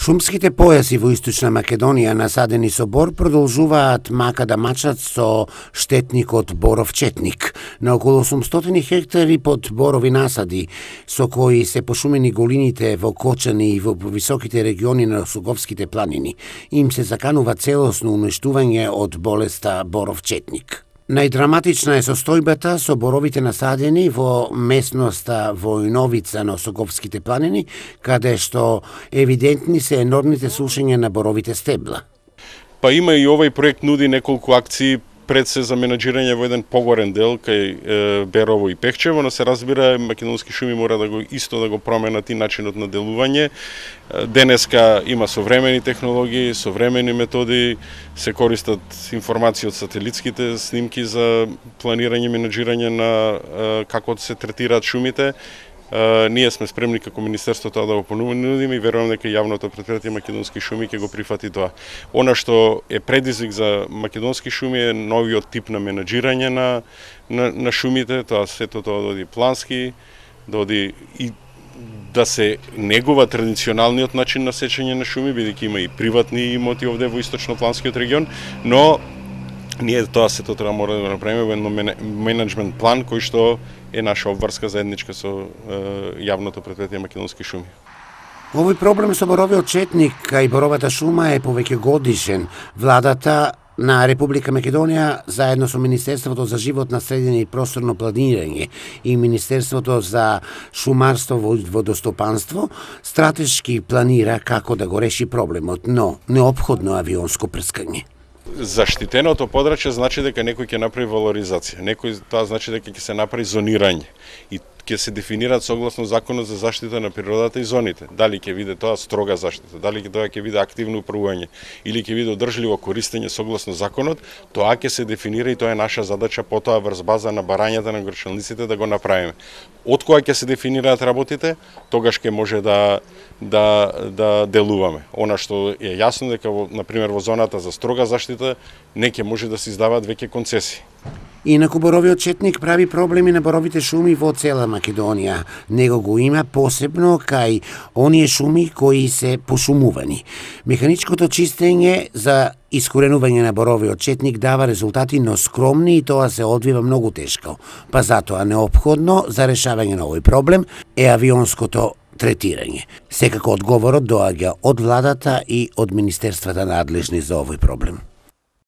Шумските појаси во Источна Македонија насадени со бор продолжуваат мака да мачат со штетникот боров четник. На околу 800 хектари под борови насади, со кои се пошумени голините во Кочани и во високите региони на Суговските планини, им се заканува целосно уништување од болеста боров четник. Најдраматична е состојбата со боровите насадени во местноста Војновица на Соговските планини, каде што евидентни се енормните сушења на боровите стебла. Па има и овој проект нуди неколку акции пред се за менаџирање во еден погорен дел кај Берово и Пехчево, но се разбира Македонски шуми мора да го исто да го променат и начинот на делување. Денеска има современи технологии, современи методи, се користат информации од сателитските снимки за планирање и менаџирање на како се третираат шумите. Ние сме спремни како Министерство тоа да го понудиме и верувам дека јавното претпријатие Македонски шуми ќе го прифати тоа. Она што е предизвик за Македонски шуми е новиот тип на менаџирање на шумите, тоа сето тоа доди плански, доди и да се негува традиционалниот начин на сечење на шуми, бидејќи има и приватни имоти овде во источнопланскиот регион, но ние тоа сето треба мора да направиме во еден менеджмент план кој што е наша обврска заедничка со јавното претпријатие Македонски шуми. Овој проблем со боровиот четник кај боровата шума е повеќе годишен. Владата на Република Македонија заедно со Министерството за животна средина и просторно планирање и Министерството за шумарство и водостопанство стратешки планира како да го реши проблемот, но неопходно авионско прскање. Заштитеното подрачје значи дека некој ќе направи валоризација, тоа значи дека ќе се направи зонирање и ќе се дефинираат согласно Законот за заштита на природата и зоните. Дали ќе биде тоа строга заштита, дали тоа ќе биде активно управување или ќе биде одржливо користење согласно законот, тоа ќе се дефинира и тоа е наша задача потоа врз база на барањата на горчалниците да го направиме. Од кога ќе се дефинираат работите, тогаш ќе може да делуваме. Она што е јасно дека на пример во зоната за строга заштита не ќе може да се издаваат веќе концесии. Инаку боровиот четник прави проблеми на боровите шуми во цела Македонија. Него го има посебно кај оние шуми кои се пошумувани. Механичкото чистење за искоренување на боровиот четник дава резултати, но скромни и тоа се одвива многу тешко. Па затоа неопходно за решавање на овој проблем е авионското третирање. Секако одговорот доаѓа од владата и од министерствата надлежни за овој проблем.